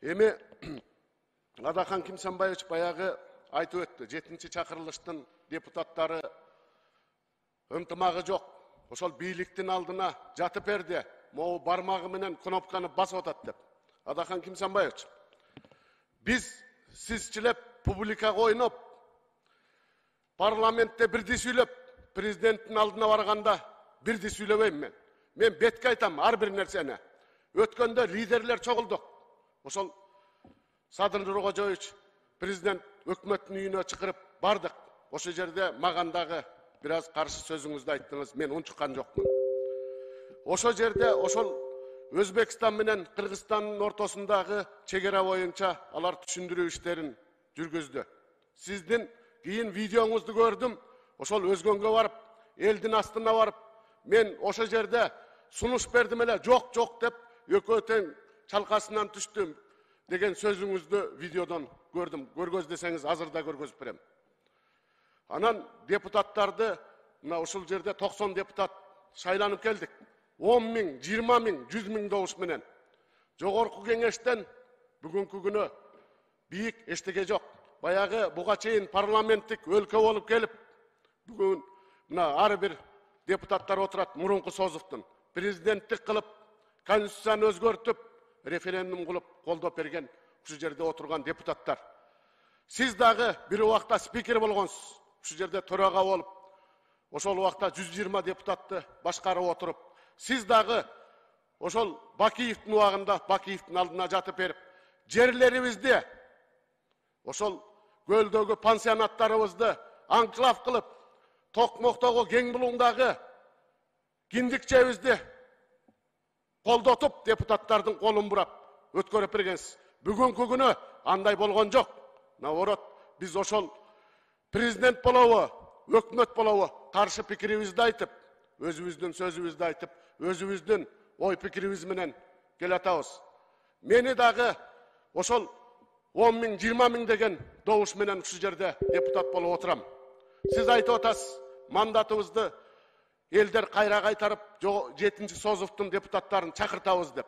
Эми Адахан Кимсанбаевич баягы айтып өттү. 7-чи чакырылыштын депутаттары ынтымагы жок. Ошол бийликтин алдына жатып берди. Могу бармагы менен кнопканы басып атат деп. Адахан Кимсанбаевич, биз сизчилеп публикага ойноп, парламентте бирди сүйлөп, президенттин алдына барганда бирди сүйлөбөйм мен. Мен бетке айтам ар бир нерсени. Өткөндө лидерлер чогулдук. Ошол Садыр Нуркожоевич президент өкмөттүн үйүнө чакырып бардык. Ошол жерде маган дагы бир аз каршы сөзүңүздү айттыңыз. Мен унчуккан жокмун. Ошол жерде ошол Өзбекстан менен Кыргызстандын ортосундагы чегара боюнча алар түшүндүрүү иштерин жүргүздү. Сиздин кийин видеоңузду көрдүм. Ошол өзгөнгө барып, элдин астына барып, мен ошол жерде сунуш бердим эле, жок деп экөө тең чалкасынан түштүм деген сөзүңүздү видеодон көрдүм. Көргөздөсөңүз азыр да көргөзүп берем. Анан депутаттарды мына ушул жерде 90 депутат шайланып келдик. 10 миң, 20 миң, 100 миң добуш менен. Жогорку кеңештен бүгүнкү күнү бийик эчтеке жок. Баягы буга чейин парламенттик өлкө болуп келип, бүгүн мына ар бир депутаттар отурат мурунку Созовдун. Президенттик кылып, конституцияны өзгөртүп, референдум кылып колдоп берген ушул жерде отурган депутаттар. Сиз дагы бир убакта спикер болгонсуз. Ушул жерде төрага болуп, ошол убакта 120 депутатты башкарып отуруп, сиз дагы ошол Бакиевдин убагында Бакиевдин алдына жатып берип, жерлерибизди, ошол көлдөгү пансионаттарыбызды анклав кылып, Токмоктогу кең булуңдагы киндикчебизди колдотуп, депутаттардын колун бурап өткөрүп бергенсиз. Бүгүнкү күнү андай болгон жок. Наоборот, биз ошол президент болобу, өкмөт болобу каршы пикирибизди айтып, өзүбүздүн сөзүбүздү айтып, өзүбүздүн ой пикирибиз менен келатабыз. Мени дагы ошол 10 миң, 20 миң деген добуш менен ушул жерде депутат болуп отурам. Сиз айтып атасыз, мандатыбызды элдер кайра кайтарып, 7-чи Созовдун депутаттарын чакыртабыз деп.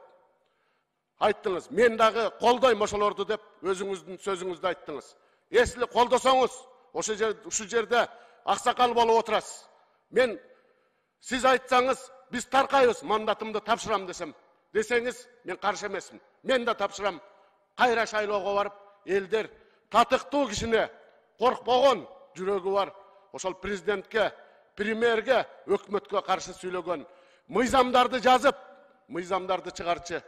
Айттыңыз, мен дагы колдойм ошолорду деп өзүңүздүн сөзүңүздү айттыңыз. Эсли колдосоңуз, ушул жерде аксакал болуп отурасыз. Мен сиз айтсаңыз, биз таркайбыз, мандатымды тапшырам десеңиз, мен каршы эмесмин. Мен да тапшырам. Кайра шайлоого барып, элдер татыктуу кишине, коркпогон жүрөгү бар, ошол президентке, премьерге, өкмөткө каршы сүйлөгөн, мыйзамдарды жазып, мыйзамдарды чыгарчы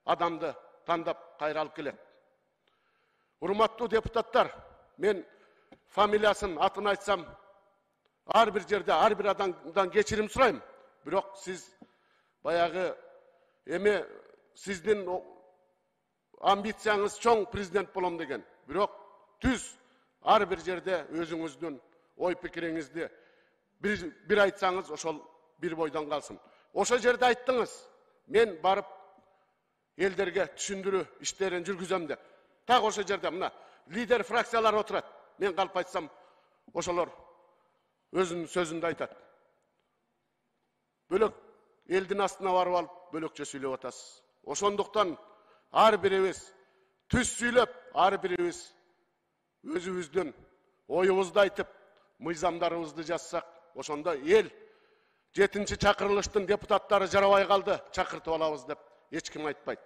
адамды тандап кайра алып келет. Урматтуу депутаттар, мен фамилиясын, атын айтсам, ар бир жерде, ар бир адамдан кечирим сурайм. Бирок сиз баягы эми сиздин амбицияңыз чоң президент болом деген. Бирок түз ар бир жерде өзүңүздүн ой пикириңизди бир айтсаңыз, ошол бир бойдон калсын. Ошол жерде айттыңыз, мен барып элдерге түшүндүрүү иштерин жүргүзөм деп. Так ошол жерде мына лидер фракциялар отурат. Мен калып айтсам, ошолор өзүнүн сөзүндө айтат. Бөлөк элдин астына барып алып, бөлөкчө сүйлөп атасыз. Ошондуктан ар бирибиз түз сүйлөп, ар бирибиз өзүбүздүн оюбузду айтып, мыйзамдарыбызды жазсак, ошондо эл 7-чи чакырылыштын депутаттары жарабай калды, чакыртып алабыз деп эч ким айтпайт.